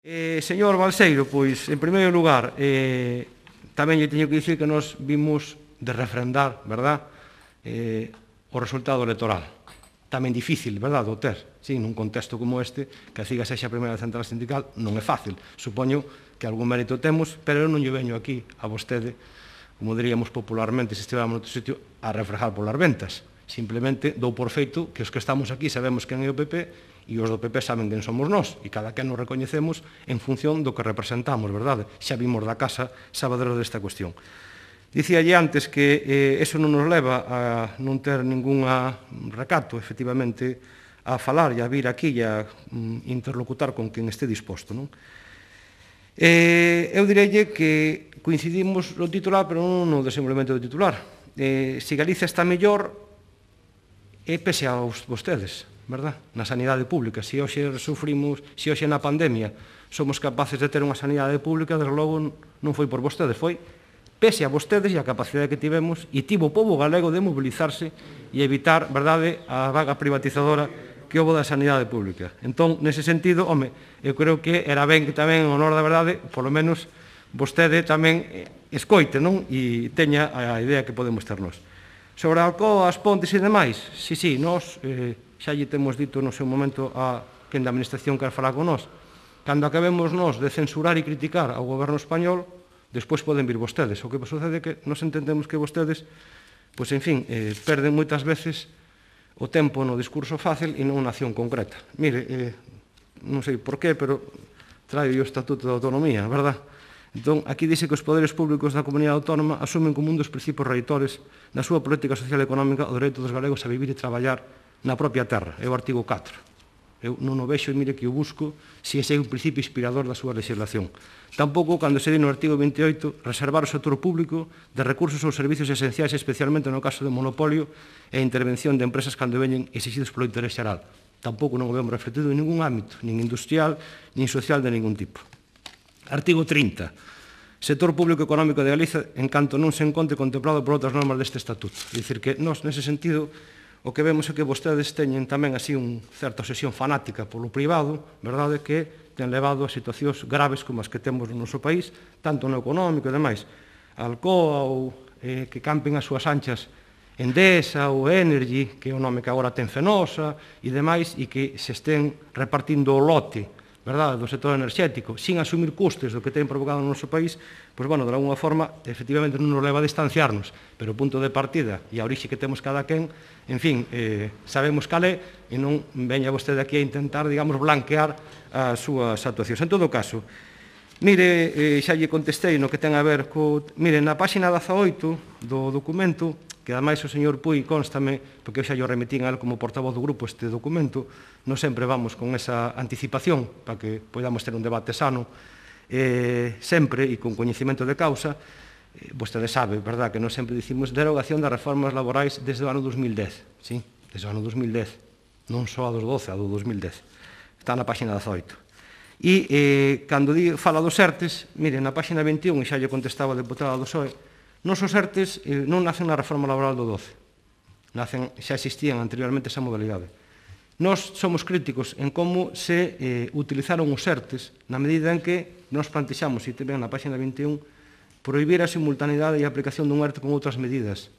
Señor Balseiro, pois, en primeiro lugar, tamén lle teño que dicir que nos vimos de refrendar, verdad, o resultado electoral. Tamén difícil, verdad, de ter. Sí, nun contexto como este, que a CIGA sexa a primeira central sindical, non é fácil. Supoño que algún mérito temos, pero eu non lle veño aquí a vostede, como diríamos popularmente, se estivéramos noutro sitio, a refrejar polas ventas. Simplemente dou por feito que os que estamos aquí sabemos quen é o PP e os do PP saben quen somos nós, e cada quen nos recoñecemos en función do que representamos, verdade? Xa vimos da casa sabadero desta cuestión. Dicíalle antes que eso non nos leva a non ter ningún recato, efectivamente, a falar e a vir aquí e a interlocutar con quen este disposto, non? Eu direille que coincidimos no titular, pero non no desenvolvemento do titular. Se Galicia está mellor, é pese a vostedes, verdad? Na sanidade pública. Se hoxe sufrimos, se hoxe na pandemia somos capaces de ter unha sanidade pública, desde logo non foi por vostedes, foi pese a vostedes e a capacidade que tivemos e tivo o pobo galego de mobilizarse e evitar, verdade, a vaga privatizadora que houve da sanidade pública. Entón, nese sentido, home, eu creo que era ben que tamén, en honor da verdade, polo menos vostede tamén escoite, non? E teña a idea que podemos ter nós. Sobre a Alcoa, as pontes e demais, sí, nós xa lle temos dito no seu momento a quen da Administración quer falar con nós. Cando acabemos nós de censurar e criticar ao goberno español, despois poden vir vostedes. O que sucede é que nós entendemos que vostedes, pois, en fin, perden moitas veces o tempo no discurso fácil e non na acción concreta. Mire, non sei por qué, pero traio o Estatuto de Autonomía, verdad? Entón, aquí dice que os poderes públicos da comunidade autónoma asumen como un dos principios reitores da súa política social e económica o dereito dos galegos a vivir e traballar na propia terra. É o artigo 4. Eu non o vexo e mire que o busco se ese é un principio inspirador da súa legislación. Tampouco cando se di no artigo 28 reservar o sector público de recursos ou servicios esenciais, especialmente no caso de monopolio e intervención de empresas cando veñen exigidos polo interés xeral. Tampouco non o vemos refletido en ningún ámbito, nin industrial, nin social de ningún tipo. Artigo 30. Sector público económico de Galicia en canto non se encontre contemplado por outras normas deste estatuto. É dicir que nós, nese sentido, o que vemos é que vostedes teñen tamén así unha certa obsesión fanática polo privado, verdade, que ten levado a situacións graves como as que temos no noso país, tanto no económico e demais. Alcoa ou que campen as súas anchas Endesa ou Energy, que é o nome que agora ten Fenosa e demais, e que se estén repartindo o lote, verdade, do sector enerxético, sin asumir custes do que ten provocado no noso país, pois, bueno, de alguna forma, efectivamente non nos leva a distanciarnos, pero o punto de partida e a orixe que temos cada quen, en fin, sabemos cal é, e non veña vostede aquí a intentar, digamos, blanquear as súas actuacións. En todo caso, mire, xa lle contestei no que ten a ver co... Mire, na páxina 18 do documento, que ademais o señor Puy constame, porque eu xa lle remitín a él como portavoz do grupo este documento, non sempre vamos con esa anticipación para que podamos ter un debate sano, sempre e con coñecemento de causa. Vostede sabe, verdad, que non sempre dicimos derogación das reformas laborais desde o ano 2010, sí? Desde o ano 2010, non só a dos 12, a do 2010. Está na páxina 18. E cando fala dos ERTES, mire, na páxina 21, e xa lle contestaba a deputada do PSOE, nos os ERTES non nacen na reforma laboral do 12, xa existían anteriormente esa modalidade. Nós somos críticos en como se utilizaron os ERTES na medida en que nos plantexamos, e tamén na páxina 21, prohibir a simultaneidade e a aplicación dun ERTE con outras medidas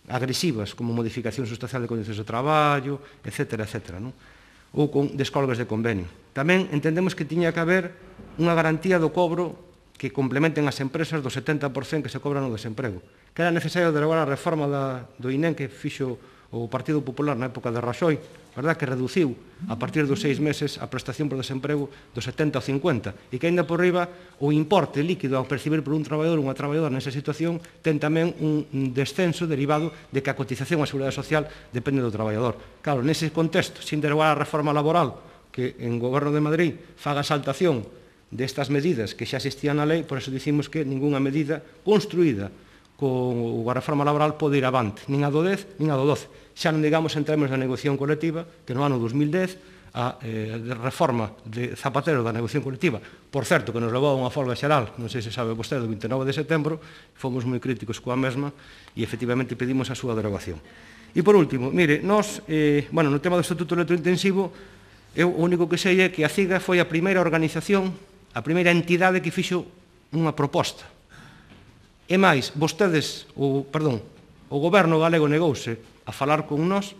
agresivas, como modificación sustancial de condicións de traballo, etc., non? Ou con descolgas de convenio. Tamén entendemos que tiña que haber unha garantía do cobro que complementen as empresas do 70% que se cobran no desemprego. Que era necesario derogar a reforma do INEM que fixo o Partido Popular na época de Raxoi, verdad, que reduciu a partir dos 6 meses a prestación por desemprego do 70 ao 50, e que, aínda por riba, o importe líquido ao percibir por un traballador ou unha traballadora nesa situación ten tamén un descenso derivado de que a cotización á Seguridade Social depende do traballador. Claro, nese contexto, sin derogar a reforma laboral, que en Goberno de Madrid faga saltación destas medidas que xa existían na lei, por eso dicimos que ninguna medida construída con a reforma laboral pode ir avante, nin a do 10, nin a do 12. Xa non digamos en términos de negociación colectiva, que no ano 2010 a reforma de Zapatero da negociación colectiva, por certo, que nos levou a unha folga xeral, non sei se sabe vostede, o 29 de setembro, fomos moi críticos coa mesma e efectivamente pedimos a súa derogación. E por último, mire, nós, no tema do estatuto electrointensivo, eu o único que sei é que a CIGA foi a primeira organización a primeira entidade que fixo unha proposta. E máis, o goberno galego negouse a falar con nós,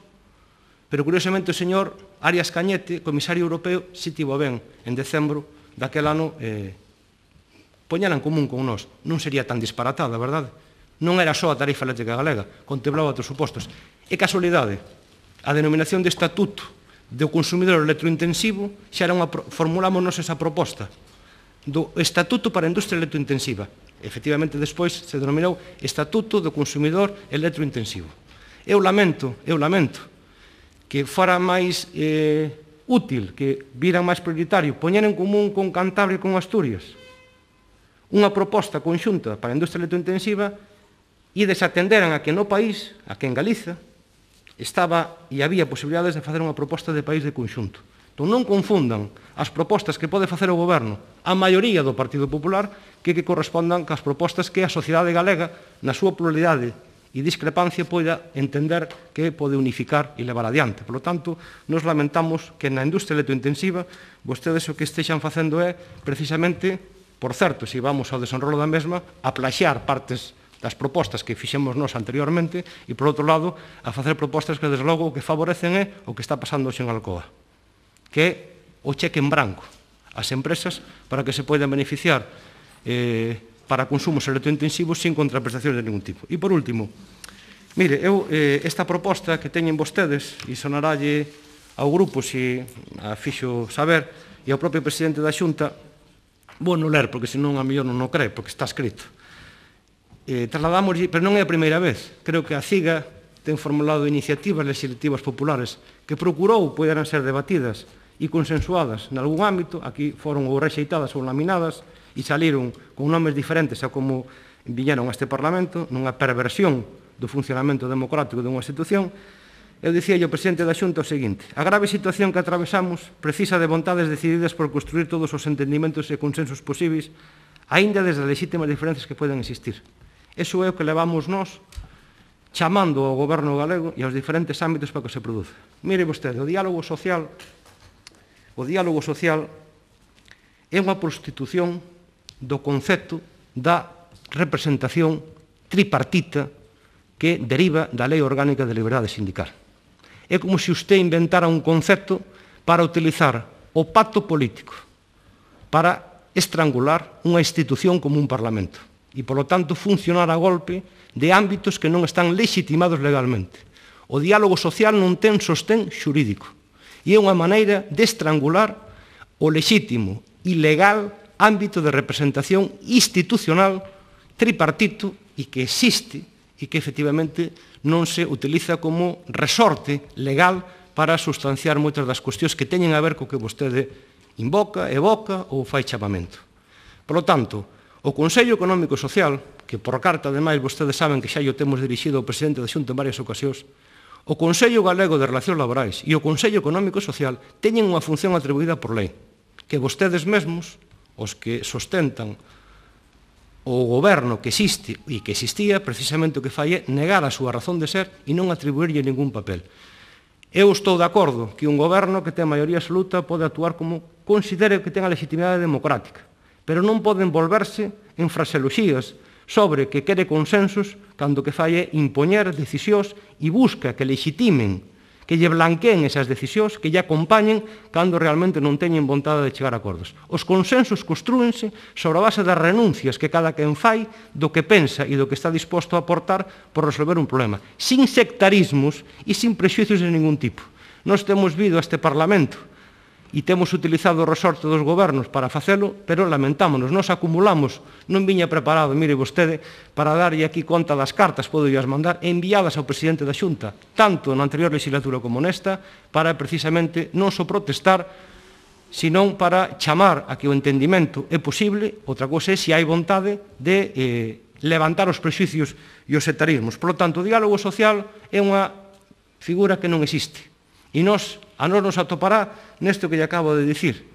pero curiosamente o señor Arias Cañete, comisario europeo, si tivo ben en decembro daquel ano poñela en común con nós. Non sería tan disparatada, verdade? Non era só a tarifa eléctrica galega, contemplaba outros supostos. E casualidade, a denominación de estatuto do consumidor electrointensivo xa era formulámonos esa proposta do Estatuto para a Industria Electrointensiva. Efectivamente, despois se denominou Estatuto do Consumidor Electrointensivo. Eu lamento que fora máis útil, que viran máis prioritario, poñer en común con Cantabria e con Asturias unha proposta conxunta para a industria electrointensiva e desatenderan a que no país, a que en Galiza, estaba e había posibilidades de facer unha proposta de país de conxunto. Entón non confundan as propostas que pode facer o goberno, a maioría do Partido Popular, que correspondan cas propostas que a sociedade galega, na súa pluralidade e discrepancia, poida entender que pode unificar e levar adiante. Por lo tanto, nos lamentamos que na industria electrointensiva vostedes o que estexan facendo é, precisamente, por certo, se vamos ao desenrolo da mesma, a plaxar partes das propostas que fixemos nós anteriormente e, por outro lado, a facer propostas que, desde logo, o que favorecen é o que está pasando hoxe en Alcoa, que é o cheque en branco ás empresas para que se poidan beneficiar para consumos electrointensivos sin contraprestacións de ningún tipo. E, por último, mire, esta proposta que teñen vostedes, e sonarálle ao grupo se a fixo saber, e ao propio presidente da Xunta, vou non ler, porque senón a mellor non o cree, porque está escrito. Trasladamos, pero non é a primeira vez. Creo que a CIGA ten formulado iniciativas legislativas populares que procurou poderan ser debatidas e consensuadas en algún ámbito. Aquí foron ou rexeitadas ou laminadas e saliron con nomes diferentes a como viñeron a este Parlamento, nunha perversión do funcionamento democrático dunha institución. Eu dicía ao presidente da Xunta o seguinte: a grave situación que atravesamos precisa de vontades decididas por construir todos os entendimentos e consensos posibles, aínda desde as legítimas diferencias que poden existir. Eso é o que levamos nós chamando ao goberno galego e aos diferentes ámbitos para que se produza. Mire vostede, o diálogo social é unha prostitución do concepto da representación tripartita que deriva da Lei Orgánica de Liberdade Sindical. É como se usted inventara un concepto para utilizar o pacto político para estrangular unha institución como un Parlamento e, polo tanto, funcionar a golpe de ámbitos que non están legitimados legalmente. O diálogo social non ten sostén xurídico e é unha maneira de estrangular o lexítimo e legal ámbito de representación institucional tripartito e que existe e que efectivamente non se utiliza como resorte legal para sustanciar moitas das cuestións que teñen a ver co que vostede invoca, evoca ou fai chamamento. Por lo tanto, o Consello Económico e Social, que por carta, ademais, vostedes saben que xa o temos dirixido ao presidente da Xunta en varias ocasións, o Consello Galego de Relacións Laborais e o Consello Económico e Social teñen unha función atribuída por lei, que vostedes mesmos, os que sustentan o goberno que existe e que existía, precisamente o que fai é negar a súa razón de ser e non atribuirlle ningún papel. Eu estou de acordo que un goberno que ten maioría absoluta pode actuar como considere que ten a legitimidade democrática, pero non poden volverse en fraseoloxías sobre que quere consensos cando que fai é impoñer decisións e busca que legitimen, que lle blanqueen esas decisións, que lle acompañen cando realmente non teñen vontade de chegar a acordos. Os consensos construense sobre a base das renuncias que cada quen fai do que pensa e do que está disposto a aportar por resolver un problema, sin sectarismos e sin prexuicios de ningún tipo. Nós temos vido a este Parlamento e temos utilizado o resorte dos gobernos para facelo, pero lamentámonos, nos acumulamos, non viña preparado, mire vostede, para darlle aquí conta das cartas, podo as mandar, enviadas ao presidente da Xunta, tanto na anterior legislatura como nesta, para precisamente non só protestar, senón para chamar a que o entendimento é posible. Outra cousa é se hai vontade de levantar os prexuicios e os sectarismos. Por lo tanto, o diálogo social é unha figura que non existe. E a nós nos atopará nesto que lle acabo de dicir.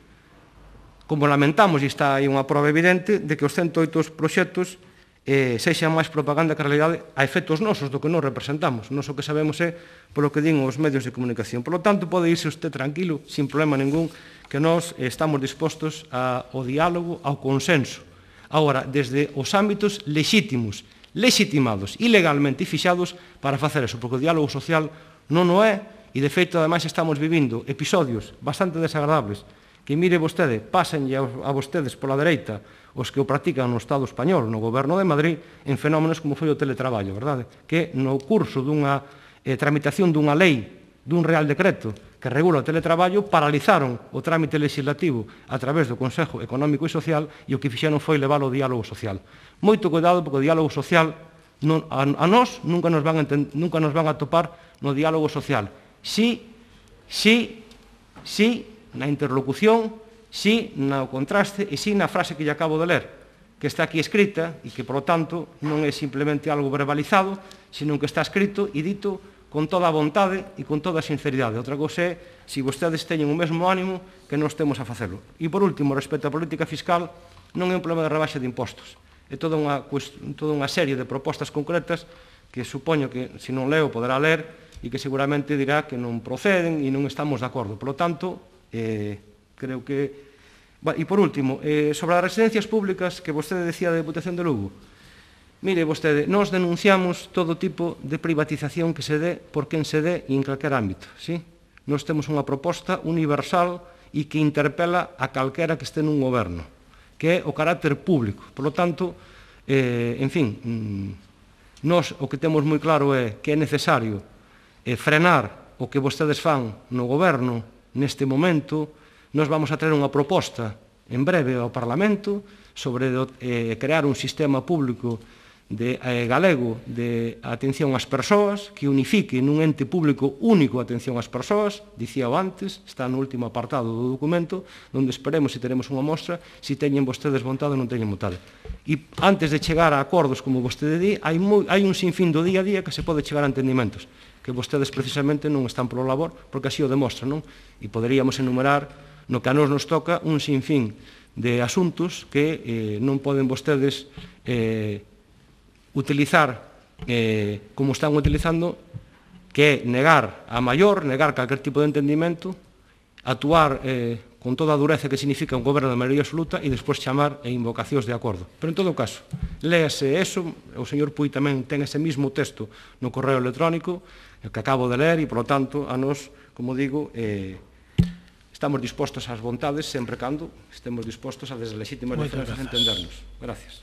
Como lamentamos, e está aí unha prova evidente, de que os 108 proxectos sexa máis propaganda que a realidade a efectos nosos do que nos representamos. Nos o que sabemos é polo que din os medios de comunicación. Por lo tanto, pode irse usted tranquilo, sin problema ningún, que nós estamos dispostos ao diálogo, ao consenso. Agora, desde os ámbitos lexítimos, legitimados e legalmente fixados para facer eso, porque o diálogo social non o é, e de feito, ademais, estamos vivindo episodios bastante desagradables que, mire vostede, pásenlle a vostedes pola dereita os que o practican no Estado español, no goberno de Madrid, en fenómenos como foi o teletraballo, verdade? Que no curso dunha tramitación dunha lei, dun real decreto que regula o teletraballo, paralizaron o trámite legislativo a través do Consejo Económico e Social e o que fixeron foi levar ao diálogo social. Moito cuidado, porque o diálogo social a nós nunca nos van a topar no diálogo social. Sí, na interlocución, sí no contraste e sí na frase que lle acabo de ler, que está aquí escrita e que, por lo tanto, non é simplemente algo verbalizado, sino que está escrito e dito con toda a vontade e con toda a sinceridade. Outra cosa é, se vostedes teñen o mesmo ánimo, que non estemos a facelo. E, por último, respecto á política fiscal, non é un problema de rebaixa de impostos. É toda unha serie de propostas concretas que supoño que, se non leo, poderá ler, e que seguramente dirá que non proceden e non estamos de acordo. Por lo tanto, creo que... E, por último, sobre as residencias públicas que vostede decía da Deputación de Lugo, mire vostede, nós denunciamos todo tipo de privatización que se dé por quen se dé e en calquer ámbito, sí? Nós temos unha proposta universal e que interpela a calquera que este nun goberno, que é o carácter público. Por lo tanto, en fin, nós o que temos moi claro é que é necesario frenar o que vostedes fan no goberno neste momento. Nós vamos a traer unha proposta en breve ao Parlamento sobre crear un sistema público galego de atención ás persoas que unifique nun ente público único a atención ás persoas, dicíao antes, está no último apartado do documento, onde esperemos se teremos unha mostra se teñen vostedes vontade ou non teñen vontade. E antes de chegar a acordos, como vostede di, hai un sinfín do día a día que se pode chegar a entendimentos, que vostedes precisamente non están polo labor, porque así o demostran, non? E poderíamos enumerar, no que a nos toca, un sinfín de asuntos que non poden vostedes utilizar como están utilizando, que é negar a maior, negar calquer tipo de entendimento, actuar con toda a dureza que significa un goberno de maioría absoluta e despois chamar a invocacións de acordo. Pero, en todo caso, léase eso, o señor Pui tamén ten ese mismo texto no correo electrónico, que acabo de ler, e, por lo tanto, a nos, como digo, estamos dispostos ás vontades, sempre cando estemos dispostos a desde legítimas diferenzas a entendernos. Gracias.